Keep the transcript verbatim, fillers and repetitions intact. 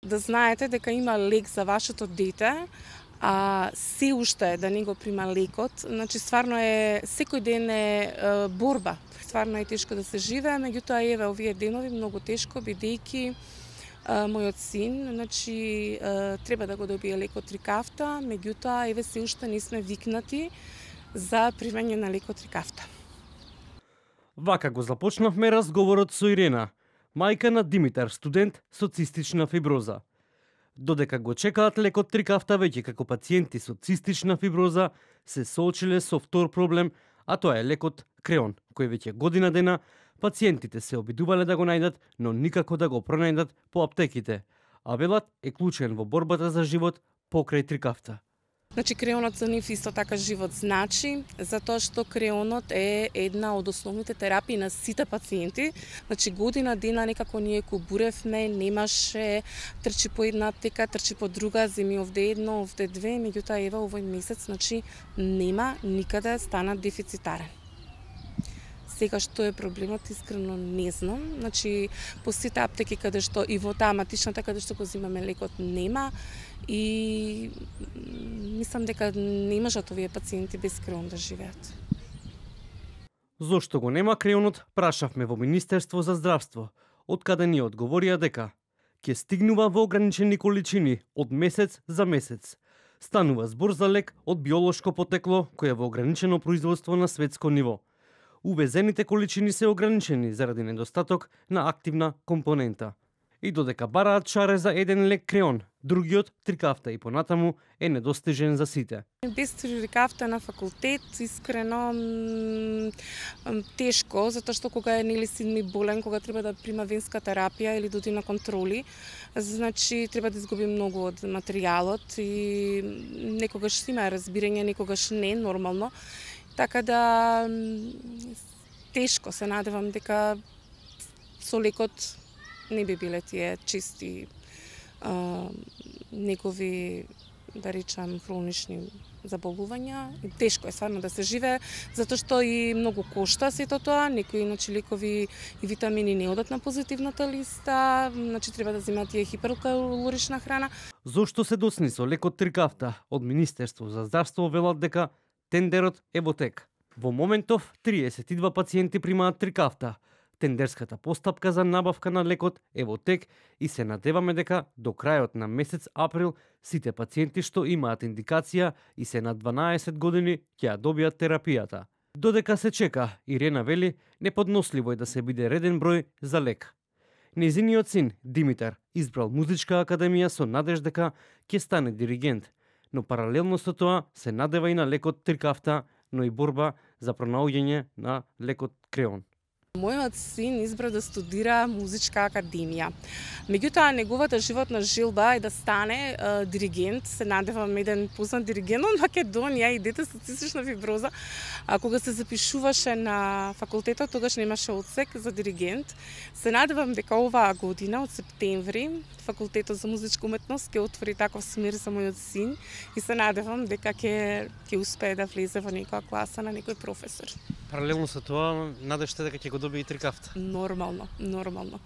Да знаете дека има лек за вашето дете, а се уште да не го прима лекот, значи стварно е секој ден е, е борба. Стварно е тешко да се живее, меѓутоа еве овие денови многу тешко бидејќи мојот син, значи треба да го добие лекот Трикафта, меѓутоа еве се уште не сме викнати за примање на лекот Трикафта. Вака го започнавме разговорот со Ирена, мајка на Димитар, студент со цистична фиброза. Додека го чекаат лекот Трикафта, веќе како пациенти со цистична фиброза се соочиле со втор проблем, а тоа е лекот Креон, кој веќе година дена пациентите се обидувале да го најдат, но никако да го пронајдат по аптеките, а велат е клучен во борбата за живот покрај Трикафта. Значи креонот за нив исто така живот значи, затоа што креонот е една од основните терапии на сите пациенти. Значи година дена некако ние кубуревме, немаше, трчи по една аптека, трчи по друга, земи овде едно, овде две, меѓутоа ева овој месец, значи нема никаде стана дефицитарен. Сега што е проблемот, искрено не знам. Значи по сите аптеки каде што и во таа матичната каде што го земаме лекот нема и мислам дека не можат овие пациенти без креон да живеат. Зошто го нема креонот, прашавме во Министерство за здравство, од каде ни одговорија дека ќе стигнува во ограничени количини од месец за месец. Станува збор за лек од биолошко потекло кој е во ограничено производство на светско ниво. Увезените количини се ограничени заради недостаток на активна компонента. И додека бараат шаре за еден лек Креон, другиот Трикафта и понатаму е недостижен за сите. Без Трикафта на факултет, искрено тешко, затоа што кога е нели син ми болен, кога треба да прима венска терапија или да оди на контроли, значи треба да изгуби многу од материјалот и некогаш има разбирање, некогаш не, нормално. Така да тешко се надевам дека со лекот не би биле тие чисти а, негови, да речам, хронични заболувања. И тешко е стварно да се живее, затоа што и многу кошта сето тоа, некои иначе лекови и витамини не одат на позитивната листа, значи треба да земат тие хиперкалорична храна. Зошто се досни со лекот Трикафта? Од Министерство за здравство велат дека тендерот е во тек. Во моментов триесет и два пациенти примаат Трикафта. Тендерската постапка за набавка на лекот е во тек и се надеваме дека до крајот на месец април сите пациенти што имаат индикација и се на дванаесет години ќе ја добијат терапијата. Додека се чека, Ирена вели, неподносливо е да се биде реден број за лек. Незиниот син, Димитар, избрал музичка академија со надеж дека ќе стане диригент, но паралелно со тоа се надева и на лекот Трикафта, но и борба за пронаоѓање на лекот Креон. Мојот син избра да студира музичка академија. Меѓутоа, неговата животна желба е да стане е, диригент. Се надевам еден познат диригент од Македонија и дете со цистична фиброза. А кога се запишуваше на факултетот, тогаш немаше одсек за диригент. Се надевам дека оваа година, од септември, факултетот за музичка уметност ќе отвори таков смер за мојот син и се надевам дека ќе ќе успее да влезе во некоја класа на некој професор. Паралелно со тоа, надежте дека ќе го добие и Трикафта. Нормално, нормално.